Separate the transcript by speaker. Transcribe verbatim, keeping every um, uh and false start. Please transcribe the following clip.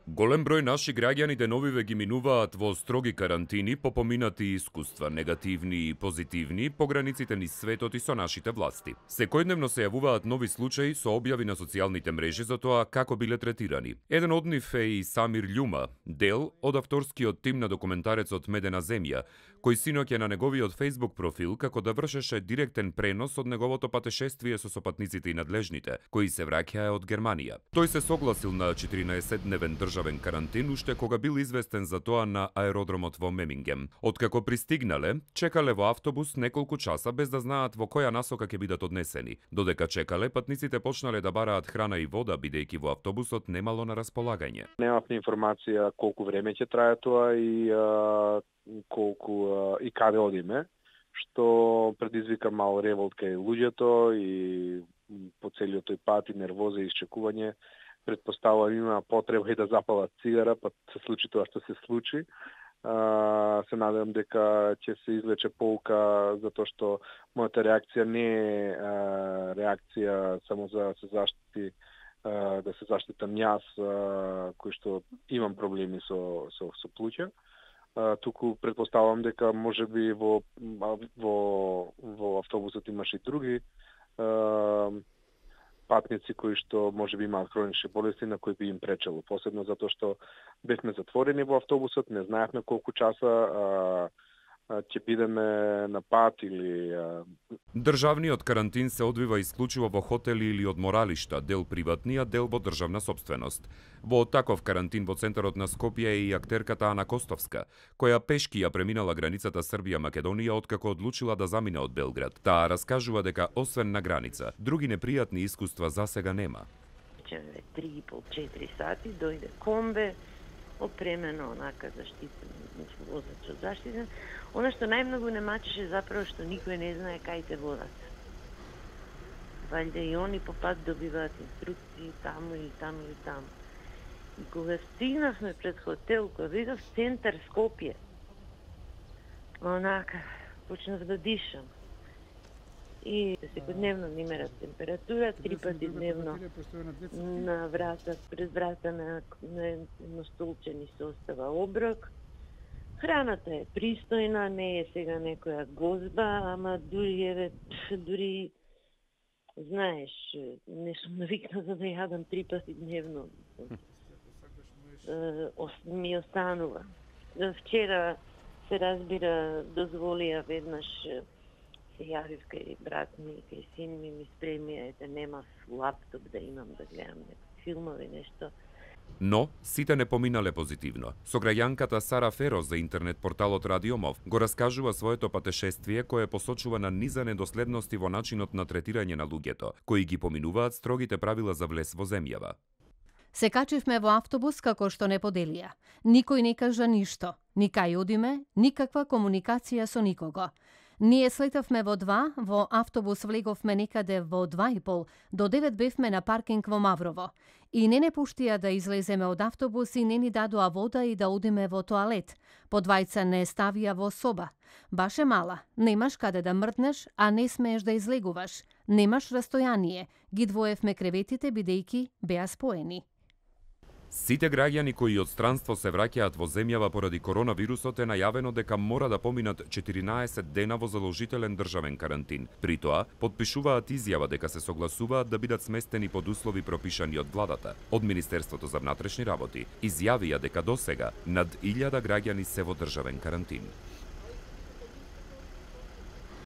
Speaker 1: Голем број наши граѓани деновиве ги минуваат во строги карантини по поминати искуства, негативни и позитивни, по границите низ светот и со нашите власти. Секојдневно се јавуваат нови случаи со објави на социјалните мрежи за тоа како биле третирани. Еден од нив е и Самир Љума, дел од авторскиот тим на документарецот Медена земја, кој синоќа на неговиот Facebook профил како да вршеше директен пренос од неговото патешествие со сопатниците и надлежните, кои се враќаа од Германија. Тој се согласил на четиринаесетдневен државен карантин уште кога бил известен за тоа на аеродромот во Мемингем. Откако пристигнале, чекале во автобус неколку часа без да знаат во која насока ќе бидат однесени. Додека чекале, патниците почнале да бараат храна и вода, бидејќи во автобусот немало на располагање.
Speaker 2: Немавме информација колку време ќе трае тоа и а, колку а, и каде одиме, што предизвика мал револт кај луѓето и по целиот тој пат и нервоза и изчекување. Предпоставувам има потреба и да запалат цигара, па се случи тоа што се случи. А, се надевам дека ќе се извлече полка, затоа што мојата реакција не е а, реакција само за да се заштити а, да се заштитам јас, а, кој што имам проблеми со со со плуќа. А, туку предпоставувам дека можеби во во во автобусот имаше и други а, патници кои што можеби имаат хронични болести на кои би им пречело, посебно затоа што бевме затворени во автобусот, не знаевме колку часа а, а, ќе бидеме на пат или а...
Speaker 1: Државниот карантин се одвива исклучиво во хотели или одморалишта, дел приватни, а дел во државна сопственост. Во таков карантин во центарот на Скопје е и актерката Ана Костовска, која пешки ја преминала границата Србија-Македонија откако одлучила да замине од Белград. Таа раскажува дека освен на граница, други непријатни искуства засега нема.
Speaker 3: три и пол до четири сати дојде комбе, опремено онака заштитено, возач од заштитен. Она што најмногу не мачеше заправо што никој не знае кај те водат. Валјде и они по пат добиваат инструкции таму и таму и таму. И кога стигнавме пред хотел, кога видов центар Скопје, онака почнав да дишам. И секојдневно ни мерат температура, три пати дневно на врата, пред врата на, на едно столче ни се остава оброк. Храната е пристојна, не е сега некоја гозба, ама дури еве, дури знаеш, не сум навикна за да јадам три пати дневно. Ми останува. Вчера се разбира, дозволија веднаш се јавив кај брат ми, кај син ми, ми спремија да немав лаптоп да имам да гледам филмови, нешто.
Speaker 1: Но, сите не поминале позитивно. Сограјанката Сара Феро за интернет порталот Радиомов го раскажува своето патешествие кое посочува на низа недоследности во начинот на третирање на луѓето, кои ги поминуваат строгите правила за влез во земјава.
Speaker 4: Се качивме во автобус како што не поделија. Никој не кажа ништо. Ни кај одиме, никаква комуникација со никого. Ние слетавме во два, во автобус влеговме некаде во два и пол, до девет бевме на паркинг во Маврово. И не не пуштија да излеземе од автобус и не ни дадоа вода и да одиме во тоалет. По двајца не ставија во соба. Баш е мала, немаш каде да мрднеш, а не смееш да излегуваш. Немаш растојание. Ги двоевме креветите бидејќи беа споени.
Speaker 1: Сите граѓани кои од странство се враќаат во земјава поради коронавирусот е најавено дека мора да поминат четиринаесет дена во задолжителен државен карантин. При тоа, потпишуваат изјава дека се согласуваат да бидат сместени под услови пропишани од владата. Од Министерството за внатрешни работи изјавија дека досега над илјада граѓани се во државен карантин.